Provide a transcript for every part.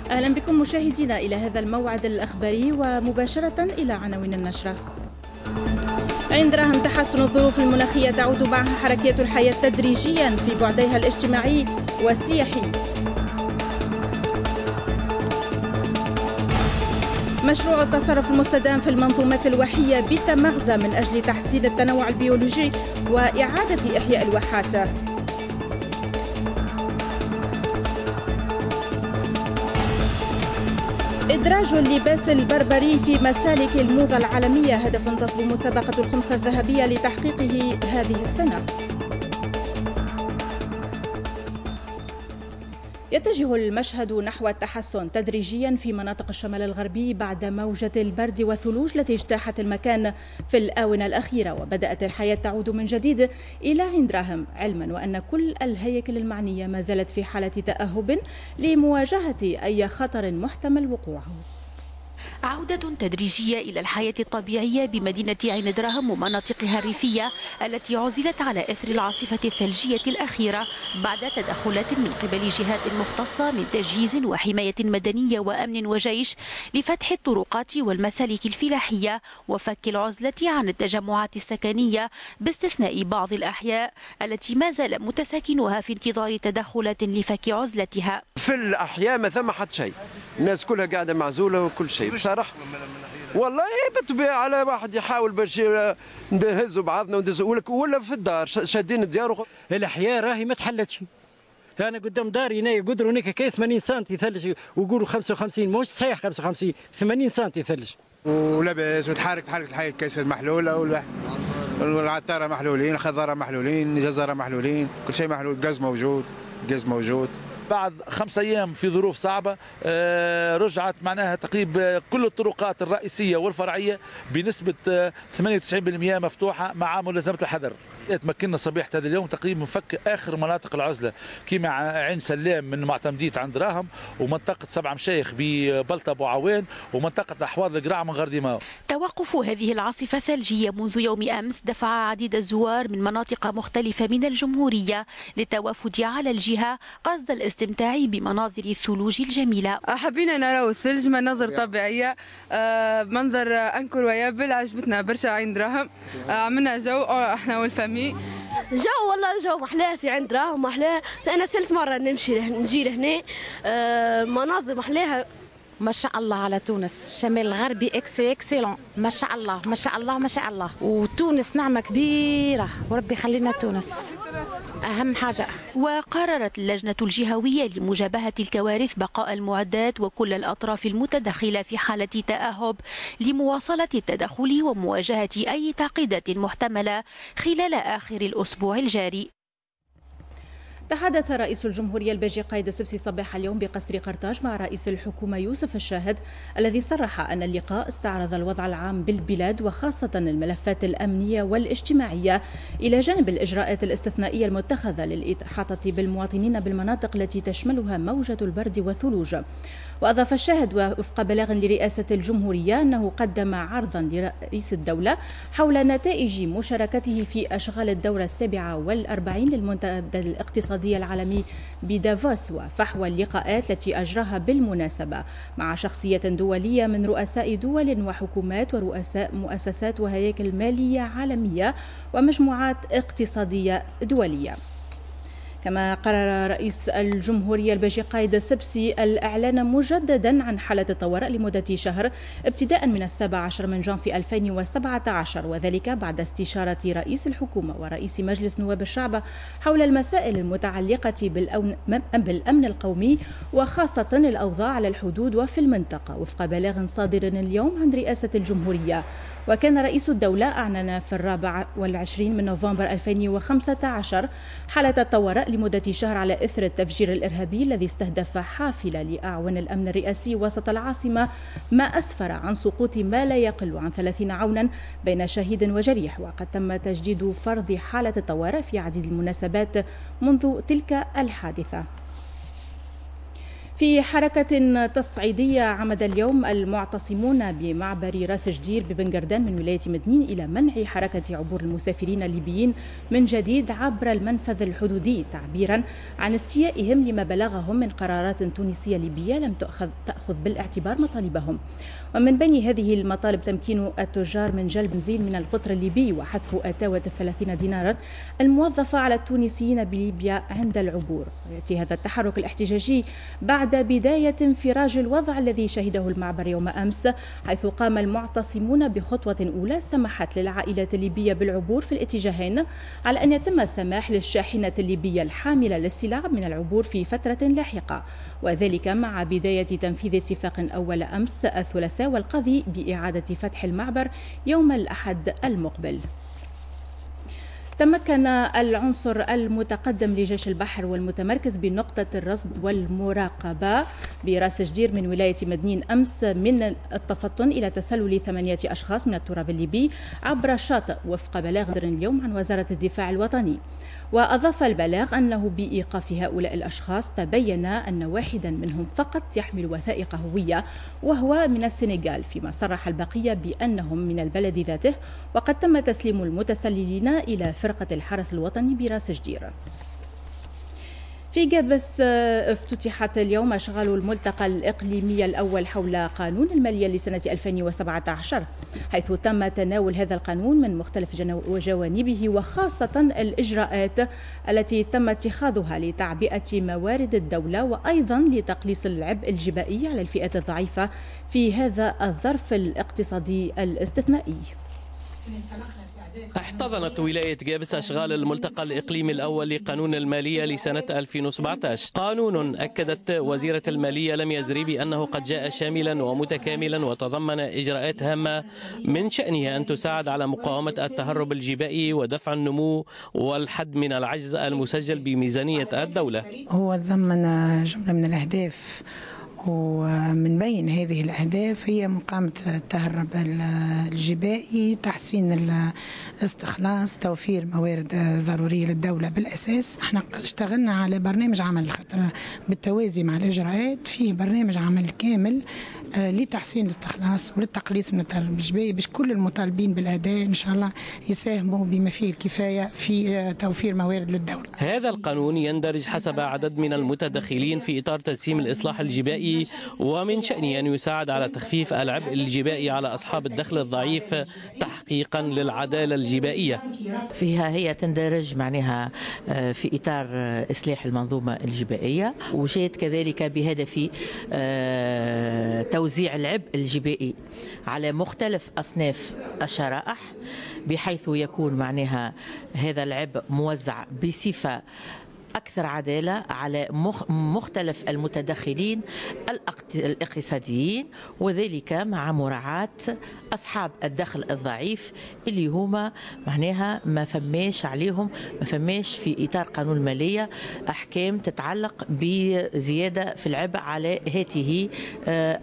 أهلا بكم مشاهدينا إلى هذا الموعد الأخباري ومباشرة إلى عناوين النشرة. عين دراهم تحسن الظروف المناخية تعود معها حركية الحياة تدريجيا في بعديها الاجتماعي والسياحي. مشروع التصرف المستدام في المنظومات الواحية بتمغزى من أجل تحسين التنوع البيولوجي وإعادة إحياء الواحات. إدراج اللباس البربري في مسالك الموضة العالمية هدف تصبو مسابقة الخمسة الذهبية لتحقيقه هذه السنة. يتجه المشهد نحو التحسن تدريجيا في مناطق الشمال الغربي بعد موجة البرد والثلوج التي اجتاحت المكان في الآونة الأخيرة، وبدأت الحياة تعود من جديد إلى عين دراهم، علما وأن كل الهياكل المعنية ما زالت في حالة تأهب لمواجهة أي خطر محتمل وقوعه. عودة تدريجية إلى الحياة الطبيعية بمدينة عين دراهم ومناطقها الريفية التي عزلت على إثر العاصفة الثلجية الأخيرة بعد تدخلات من قبل جهات مختصة من تجهيز وحماية مدنية وأمن وجيش لفتح الطرقات والمسالك الفلاحية وفك العزلة عن التجمعات السكنية، باستثناء بعض الأحياء التي ما زال متساكنها في انتظار تدخلات لفك عزلتها. في الأحياء ما ثم حد شيء، الناس كلها قاعدة معزولة وكل شيء بصراحة. والله بالطبيعة على واحد يحاول باش نهزوا بعضنا وندزوا، ولا في الدار شادين الديار. الأحياء راهي ما تحلتش. أنا قدام داري هنا قدروا هناك كي 80 سم ثلج ويقولوا 55، مش صحيح 55، 80 سم ثلج. ولاباس وتحرك تحرك الحي الكيس محلولة والعطارة محلولين، الخضارة محلولين، الجزرة محلولين، كل شيء محلول، الغاز موجود، الغاز موجود. بعد 5 أيام في ظروف صعبة رجعت معناها تقريبا كل الطرقات الرئيسية والفرعية بنسبة 98% مفتوحة مع ملازمة الحذر. تمكنا صبيحة هذا اليوم تقريبا من فك آخر مناطق العزلة كما عين سلام من معتمدية عند دراهم، ومنطقة 7 مشايخ ببلطة بوعوان، ومنطقة أحواض القراع من غرديماو. توقف هذه العاصفة الثلجية منذ يوم أمس دفع عديد الزوار من مناطق مختلفة من الجمهورية للتوافد على الجهة قصد الاستمتاع بمناظر الثلوج الجميلة. حبينا نراو الثلج، مناظر طبيعية، منظر incroyable، عجبتنا برشا عين دراهم، عملنا جو احنا وال famille. جو والله جو محلاه في عين دراهم محلاه، انا ثالث مرة نمشي نجي لهنا، مناظر محلاها. ما شاء الله على تونس، الشمال الغربي excellent، ما شاء الله ما شاء الله ما شاء الله، وتونس نعمة كبيرة وربي يخلينا تونس أهم حاجة. وقررت اللجنة الجهوية لمجابهة الكوارث بقاء المعدات وكل الأطراف المتدخلة في حالة تأهب لمواصلة التدخل ومواجهة أي تعقيدات محتملة خلال آخر الأسبوع الجاري. تحدث رئيس الجمهورية الباجي قايد السبسي صباح اليوم بقصر قرطاج مع رئيس الحكومة يوسف الشاهد الذي صرح أن اللقاء استعرض الوضع العام بالبلاد وخاصة الملفات الأمنية والاجتماعية إلى جانب الإجراءات الاستثنائية المتخذة للإحاطة بالمواطنين بالمناطق التي تشملها موجة البرد والثلوج. وأضاف الشاهد وفق بلاغ لرئاسة الجمهورية أنه قدم عرضا لرئيس الدولة حول نتائج مشاركته في أشغال الدورة 47 للمنتدى الاقتصادي العالمي بدافوس وفحوى اللقاءات التي أجراها بالمناسبة مع شخصية دولية من رؤساء دول وحكومات ورؤساء مؤسسات وهياكل مالية عالمية ومجموعات اقتصادية دولية. كما قرر رئيس الجمهورية الباجي قايد السبسي الإعلان مجددا عن حالة الطوارئ لمدة شهر ابتداء من 17 من جانفي 2017، وذلك بعد استشارة رئيس الحكومة ورئيس مجلس نواب الشعب حول المسائل المتعلقة بالأمن القومي وخاصة الأوضاع على الحدود وفي المنطقة، وفق بلاغ صادر اليوم عن رئاسة الجمهورية. وكان رئيس الدولة أعلن في 24 من نوفمبر 2015 حالة الطوارئ لمدة شهر على إثر التفجير الإرهابي الذي استهدف حافلة لأعوان الأمن الرئاسي وسط العاصمة، ما أسفر عن سقوط ما لا يقل عن 30 عونا بين شهيد وجريح. وقد تم تجديد فرض حالة الطوارئ في عديد المناسبات منذ تلك الحادثة. في حركة تصعيدية عمد اليوم المعتصمون بمعبر راس جدير ببنجردان من ولاية مدنين إلى منع حركة عبور المسافرين الليبيين من جديد عبر المنفذ الحدودي، تعبيرا عن استيائهم لما بلغهم من قرارات تونسية ليبية لم تأخذ بالاعتبار مطالبهم. ومن بين هذه المطالب تمكين التجار من جلب بنزين من القطر الليبي وحذف أتاوة 30 دينارا الموظفة على التونسيين بليبيا عند العبور. يأتي هذا التحرك الاحتجاجي بعد بداية انفراج الوضع الذي شهده المعبر يوم أمس، حيث قام المعتصمون بخطوة أولى سمحت للعائلات الليبية بالعبور في الاتجاهين، على أن يتم السماح للشاحنة الليبية الحاملة للسلع من العبور في فترة لاحقة، وذلك مع بداية تنفيذ اتفاق أول أمس الثلاثاء والقضي بإعادة فتح المعبر يوم الأحد المقبل. تمكن العنصر المتقدم لجيش البحر والمتمركز بنقطة الرصد والمراقبة براس جدير من ولاية مدنين أمس من التفطن إلى تسلل 8 أشخاص من التراب الليبي عبر الشاطئ، وفق بلاغ اليوم عن وزارة الدفاع الوطني. وأضاف البلاغ أنه بإيقاف هؤلاء الأشخاص تبين أن واحدا منهم فقط يحمل وثائق هوية وهو من السنغال، فيما صرح البقية بأنهم من البلد ذاته، وقد تم تسليم المتسللين إلى فرقة الحرس الوطني براس جدير. في جابس افتتحت اليوم أشغال الملتقى الإقليمي الأول حول قانون المالية لسنة 2017، حيث تم تناول هذا القانون من مختلف جوانبه، وخاصة الإجراءات التي تم اتخاذها لتعبئة موارد الدولة، وأيضا لتقليص العبء الجبائي على الفئات الضعيفة في هذا الظرف الاقتصادي الاستثنائي. احتضنت ولاية جابس أشغال الملتقى الإقليمي الأول لقانون المالية لسنة 2017، قانون أكدت وزيرة المالية لميا زريبي أنه قد جاء شاملا ومتكاملا وتضمن إجراءات هامة من شأنها أن تساعد على مقاومة التهرب الجبائي ودفع النمو والحد من العجز المسجل بميزانية الدولة. هو تضمن جملة من الأهداف، ومن بين هذه الأهداف هي مقاومة التهرب الجبائي، تحسين الاستخلاص، توفير موارد ضرورية للدولة. بالأساس احنا اشتغلنا على برنامج عمل خاطر بالتوازي مع الإجراءات فيه برنامج عمل كامل لتحسين الاستخلاص وللتقليص من التهرب الجبائي، باش كل المطالبين بالأداء إن شاء الله يساهموا بما فيه الكفاية في توفير موارد للدولة. هذا القانون يندرج حسب عدد من المتدخلين في إطار تسهيم الإصلاح الجبائي، ومن شأنه أن يساعد على تخفيف العبء الجبائي على أصحاب الدخل الضعيف تحقيقا للعدالة الجبائية. فيها هي تندرج معناها في إطار إصلاح المنظومة الجبائية، وجاءت كذلك بهدف توزيع العبء الجبائي على مختلف أصناف الشرائح، بحيث يكون معناها هذا العبء موزع بصفة أكثر عدالة على مختلف المتدخلين الاقتصاديين، وذلك مع مراعاة أصحاب الدخل الضعيف اللي هما معناها ما فماش عليهم، ما فماش في إطار قانون المالية أحكام تتعلق بزيادة في العبء على هذه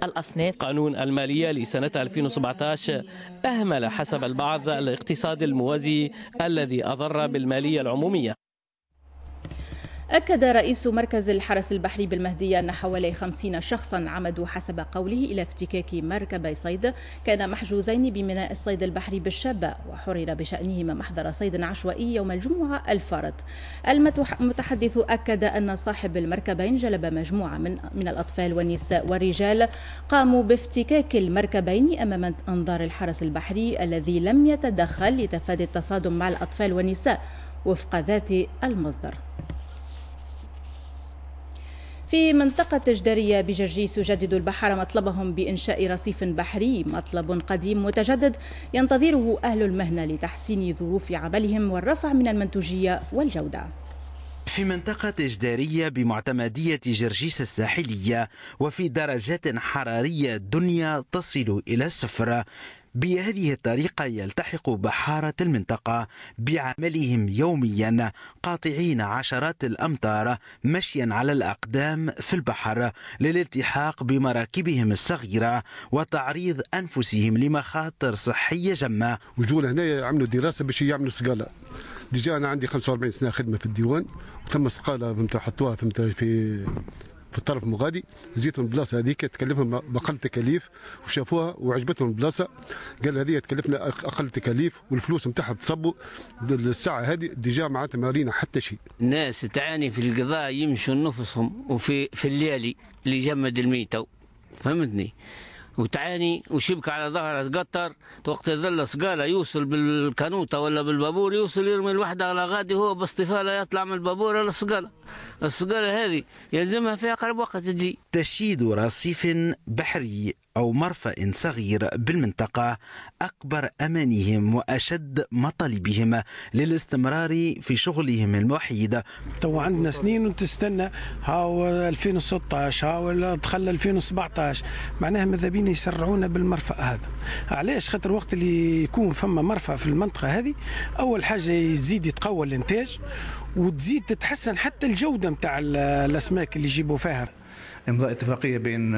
الأصناف. قانون المالية لسنة 2017 أهمل حسب البعض الاقتصاد الموازي الذي أضر بالمالية العمومية. أكد رئيس مركز الحرس البحري بالمهدية أن حوالي 50 شخصا عمدوا حسب قوله إلى افتكاك مركبي صيد كان محجوزين بميناء الصيد البحري بالشابة، وحرر بشأنهما محضر صيد عشوائي يوم الجمعة الفارط. المتحدث أكد أن صاحب المركبين جلب مجموعة من الأطفال والنساء والرجال قاموا بافتكاك المركبين أمام أنظار الحرس البحري الذي لم يتدخل لتفادي التصادم مع الأطفال والنساء وفق ذات المصدر. في منطقة جدارية بجرجيس يجدد البحارة مطلبهم بإنشاء رصيف بحري، مطلب قديم متجدد ينتظره أهل المهنة لتحسين ظروف عملهم والرفع من المنتوجية والجودة. في منطقة جدارية بمعتمدية جرجيس الساحلية وفي درجات حرارية دنيا تصل إلى الصفر، بهذه الطريقة يلتحق بحارة المنطقة بعملهم يوميا، قاطعين عشرات الأمتار مشيا على الأقدام في البحر للالتحاق بمراكبهم الصغيرة وتعريض أنفسهم لمخاطر صحية جمة. وجول هنا عملوا دراسة باش يعملوا سقالة. déjà أنا عندي 45 سنة خدمة في الديوان، وثم سقالة فهمت حطوها فهمت في في الطرف المغادي، زيتهم البلاصة هذيك تكلفهم باقل تكاليف وشافوها وعجبتهم البلاصة، قال هذه تكلفنا اقل تكاليف والفلوس نتاعها تصبوا الساعة هذه déjà معناتها ما رينا حتى شيء. الناس تعاني في القضاء، يمشوا نفسهم وفي الليالي اللي جمد الميتة، فهمتني؟ وتعاني وشبك على ظهرها تقطر، وقت يظل سقالة يوصل بالكانوطة ولا بالبابور، يوصل يرمي الوحدة على غادي، هو باستفالة يطلع من البابور على السقالة. السقالة هذه يلزمها في أقرب وقت تجي. تشييد رصيف بحري أو مرفأ صغير بالمنطقة أكبر أمانيهم وأشد مطالبهم للاستمرار في شغلهم الوحيد. تو عندنا سنين وتستنى، هاو 2016 هاو دخل 2017، معناها ماذا بينا يسرعونا بالمرفأ هذا. علاش؟ خاطر وقت اللي يكون فما مرفأ في المنطقة هذه، أول حاجة يزيد يتقوى الإنتاج وتزيد تتحسن حتى الجودة نتاع الأسماك اللي يجيبوا فيها. امضاء اتفاقية بين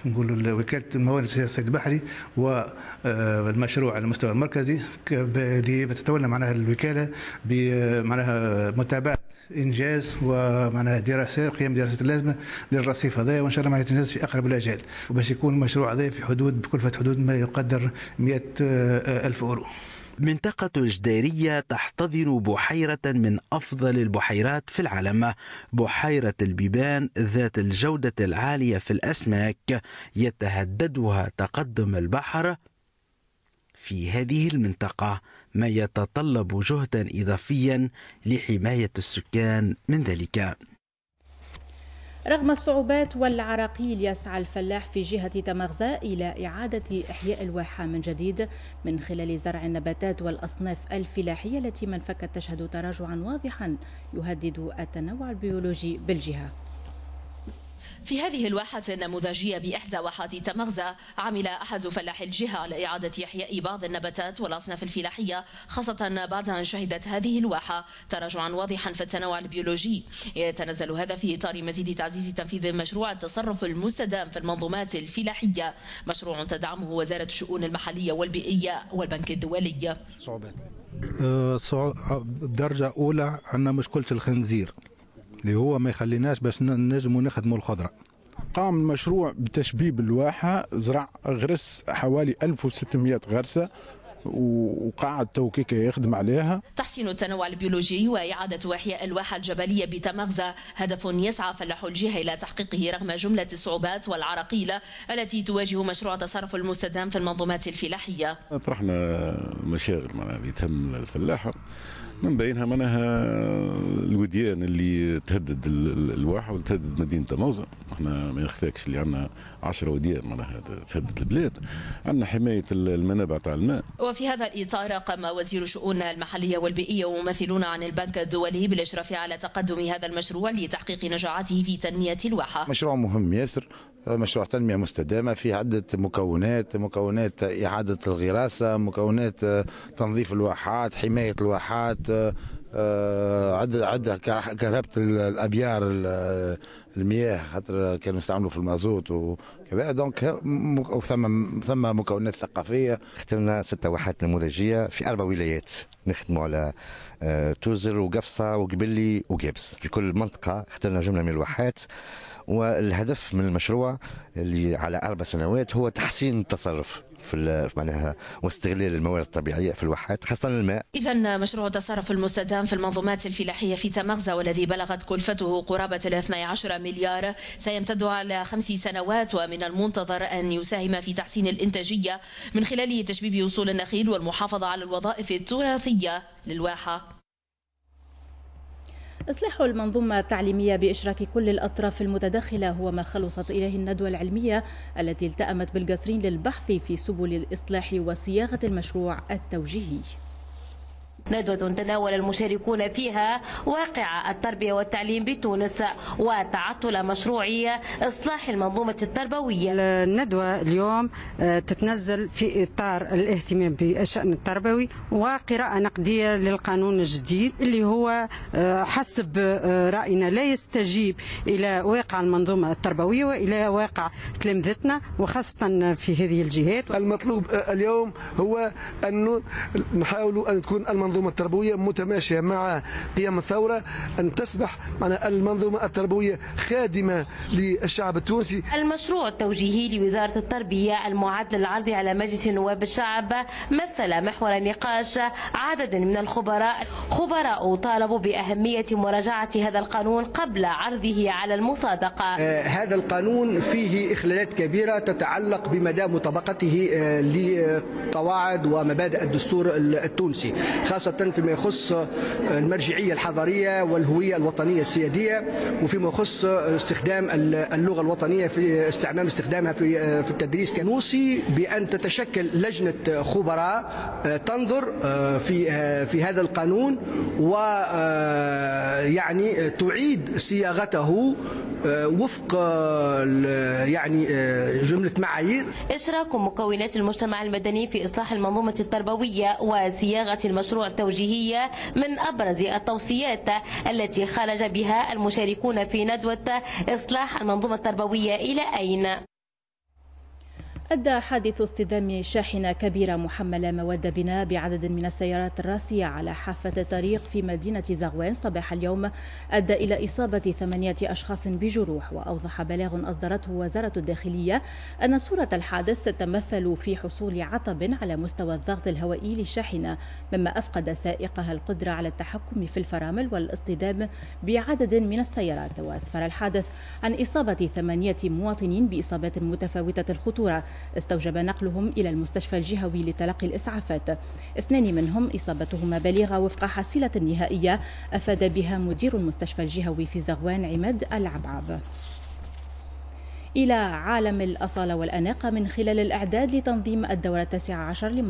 نقولوا وكالة الموانئ الصيد البحري والمشروع على المستوى المركزي، اللي تتولى معناها الوكالة بمعناها متابعه انجاز ومعناها دراسات، قيام دراسات اللازمة للرصيف هذا، وان شاء الله معناها تنجز في اقرب الاجال، وباش يكون المشروع هذا في حدود بكلفه حدود ما يقدر 100,000 اورو. منطقة الجديرية تحتضن بحيرة من أفضل البحيرات في العالم، بحيرة البيبان ذات الجودة العالية في الأسماك، يتهددها تقدم البحر في هذه المنطقة، ما يتطلب جهدا إضافيا لحماية السكان من ذلك. رغم الصعوبات والعراقيل، يسعى الفلاح في جهة تمغزة إلى إعادة إحياء الواحة من جديد من خلال زرع النباتات والأصناف الفلاحية التي من فكت تشهد تراجعا واضحا يهدد التنوع البيولوجي بالجهة. في هذه الواحة النموذجية بإحدى واحات تمغزة، عمل أحد فلاح الجهة على إعادة إحياء بعض النباتات والأصناف الفلاحية، خاصة بعد أن شهدت هذه الواحة تراجعا واضحا في التنوع البيولوجي. يتنزل هذا في إطار مزيد تعزيز تنفيذ مشروع التصرف المستدام في المنظومات الفلاحية، مشروع تدعمه وزارة الشؤون المحلية والبيئية والبنك الدولي. صعوبات بدرجة أولى عندنا مشكلة الخنزير اللي هو ما يخليناش باش نجموا نخدموا الخضرة. قام المشروع بتشبيب الواحه، زرع غرس حوالي 1600 غرسه وقاعد توكيكا يخدم عليها. تحسين التنوع البيولوجي وإعادة إحياء الواحة الجبلية بتمغزة هدف يسعى فلاح الجهة إلى تحقيقه رغم جملة الصعوبات والعراقيل التي تواجه مشروع التصرف المستدام في المنظومات الفلاحية. طرحنا مشاغل معناها اللي تهم الفلاحة، من بينها معناها الوديان اللي تهدد الواحة وتهدد مدينة تمغزة. احنا ما يخفاكش اللي عندنا 10 وديان معناها تهدد البلاد، عندنا حماية المنابع تاع الماء. وفي هذا الإطار قام وزير الشؤون المحلية والبيئية وممثلون عن البنك الدولي بالإشراف على تقدم هذا المشروع لتحقيق نجاعته في تنمية الواحة. مشروع مهم ياسر، مشروع تنمية مستدامة فيه عدة مكونات، مكونات إعادة الغراسة، مكونات تنظيف الواحات، حماية الواحات، عدة كهربة الأبيار المياه خاطر كانوا يستعملوا في المازوت وكذا، donc ثم مكونات ثقافية. خدمنا 6 واحات نموذجية في 4 ولايات، نخدموا على توزر وقفصة وقبلي وقابس. في كل منطقة اخترنا جملة من الواحات، والهدف من المشروع اللي على 4 سنوات هو تحسين التصرف في معناها واستغلال الموارد الطبيعية في الواحات، خاصة الماء. اذا مشروع التصرف المستدام في المنظومات الفلاحية في تمغزة والذي بلغت كلفته قرابة 12 مليار سيمتد على 5 سنوات، ومن المنتظر ان يساهم في تحسين الانتاجية من خلال تشبيب اصول النخيل والمحافظة على الوظائف التراثية للواحه. إصلاح المنظومة التعليمية بإشراك كل الأطراف المتداخلة هو ما خلصت إليه الندوة العلمية التي التأمت بالقصرين للبحث في سبل الإصلاح وصياغة المشروع التوجيهي. ندوة تناول المشاركون فيها واقع التربية والتعليم بتونس وتعطل مشروع إصلاح المنظومة التربوية. الندوة اليوم تتنزل في إطار الاهتمام بالشأن التربوي وقراءة نقدية للقانون الجديد اللي هو حسب رأينا لا يستجيب إلى واقع المنظومة التربوية وإلى واقع تلامذتنا وخاصة في هذه الجهات. المطلوب اليوم هو أن نحاول أن تكون المنظومة المنظومة التربوية متماشية مع قيام الثورة، أن تصبح معنا المنظومة التربوية خادمة للشعب التونسي. المشروع التوجيهي لوزارة التربية المعد للعرض على مجلس نواب الشعب مثل محور نقاش عدد من الخبراء، خبراء طالبوا بأهمية مراجعة هذا القانون قبل عرضه على المصادقة. هذا القانون فيه إخلالات كبيرة تتعلق بمدى مطابقته لقواعد ومبادئ الدستور التونسي، خاصة فيما يخص المرجعية الحضارية والهوية الوطنية السيادية، وفيما يخص استخدام اللغة الوطنية في استعمام استخدامها في التدريس. نوصي بأن تتشكل لجنة خبراء تنظر في هذا القانون ويعني تعيد صياغته وفق يعني جملة معايير. إشراك مكونات المجتمع المدني في إصلاح المنظومة التربوية وصياغة المشروع التوجيهي من أبرز التوصيات التي خرج بها المشاركون في ندوة إصلاح المنظومة التربوية إلى أين؟ أدى حادث اصطدام شاحنة كبيرة محملة مواد بناء بعدد من السيارات الراسية على حافة الطريق في مدينة زغوان صباح اليوم أدى إلى إصابة 8 أشخاص بجروح. وأوضح بلاغ أصدرته وزارة الداخلية أن صورة الحادث تتمثل في حصول عطب على مستوى الضغط الهوائي للشاحنة، مما أفقد سائقها القدرة على التحكم في الفرامل والاصطدام بعدد من السيارات. وأسفر الحادث عن إصابة 8 مواطنين بإصابات متفاوتة الخطورة استوجب نقلهم إلى المستشفى الجهوي لتلقي الإسعافات. 2 منهم إصابتهما بالغة وفق حصيلة نهائية أفاد بها مدير المستشفى الجهوي في زغوان عماد العبعب. إلى عالم الأصالة والأناقة من خلال الإعداد لتنظيم الدورة 19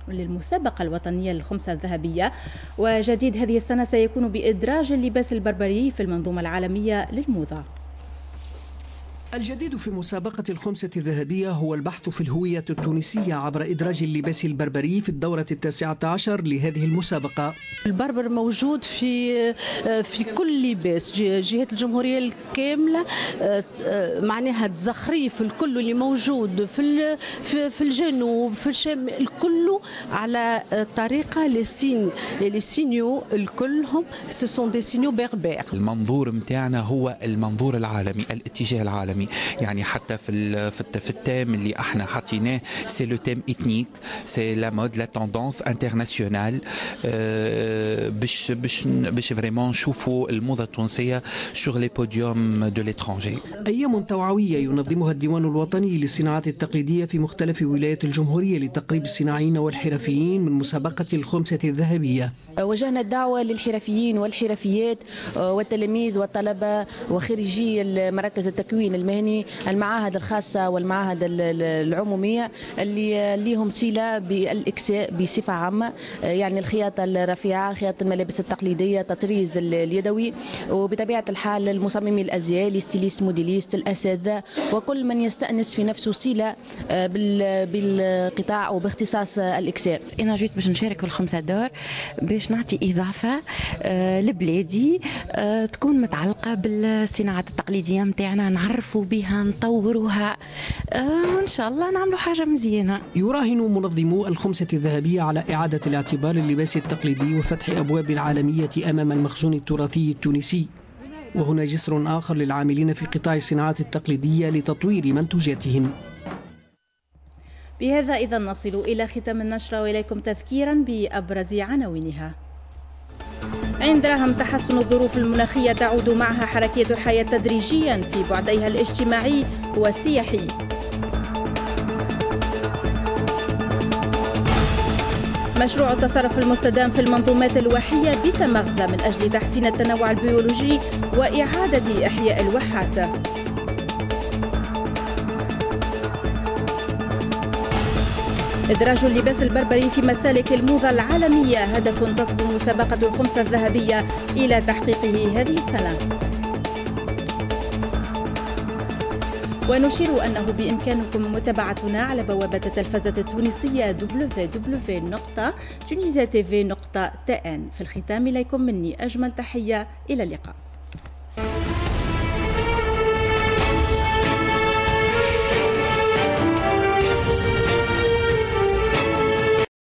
للمسابقة الوطنية للخمسة الذهبية. وجديد هذه السنة سيكون بإدراج اللباس البربري في المنظومة العالمية للموضة. الجديد في مسابقة الخمسة الذهبية هو البحث في الهوية التونسية عبر إدراج اللباس البربري في الدورة 19 لهذه المسابقة. البربر موجود في كل لباس، جهات الجمهورية الكاملة، معناها تزخريف الكل اللي موجود في الجنوب، في الشمال، الكل على طريقة les signaux الكلهم ce sont des signaux berbères. المنظور متاعنا هو المنظور العالمي، الاتجاه العالمي، يعني حتى في ال thème اللي احنا حطيناه c'est le thème ethnique، c'est la mode، la tendance internationale، باش باش باش vraiment نشوفوا الموضة التونسية sur les podiums de l'étranger. ايام توعوية ينظمها الديوان الوطني للصناعات التقليدية في مختلف ولايات الجمهورية لتقريب الصناعيين والحرفيين من مسابقة الخمسة الذهبية. وجهنا الدعوة للحرفيين والحرفيات والتلاميذ والطلبة وخريجي مراكز التكوين المهني، المعاهد الخاصة والمعاهد العمومية اللي ليهم صلة بالإكساء بصفة عامة، يعني الخياطة الرفيعة، خياطة الملابس التقليدية، التطريز اليدوي، وبطبيعة الحال المصممي الأزياء، ال stylistes، modélistes، الأساتذة، وكل من يستأنس في نفسه صلة بالقطاع وباختصاص الإكساء. أنا جيت باش نشارك في الخمسة d'or باش نعطي إضافة لبلادي تكون متعلقة بالصناعات التقليدية متاعنا، نعرفوا بها، نطوروها، وإن شاء الله نعملوا حاجة مزيانة. يراهن منظمو الخمسة الذهبية على إعادة الاعتبار للباس التقليدي وفتح أبواب العالمية أمام المخزون التراثي التونسي. وهنا جسر آخر للعاملين في قطاع الصناعات التقليدية لتطوير منتوجاتهم. بهذا إذا نصل إلى ختام النشرة، وإليكم تذكيرا بأبرز عناوينها. عند رهم تحسن الظروف المناخية تعود معها حركية الحياة تدريجيا في بعديها الاجتماعي والسياحي. مشروع التصرف المستدام في المنظومات الواحية بتمغزى من أجل تحسين التنوع البيولوجي وإعادة إحياء الواحات. إدراج اللباس البربري في مسالك الموضة العالمية هدف تصبو مسابقة الخمسة الذهبية إلى تحقيقه هذه السنة. ونشير أنه بإمكانكم متابعتنا على بوابة التلفزة التونسية www.tunisiatv.tn. في الختام إليكم مني أجمل تحية، إلى اللقاء.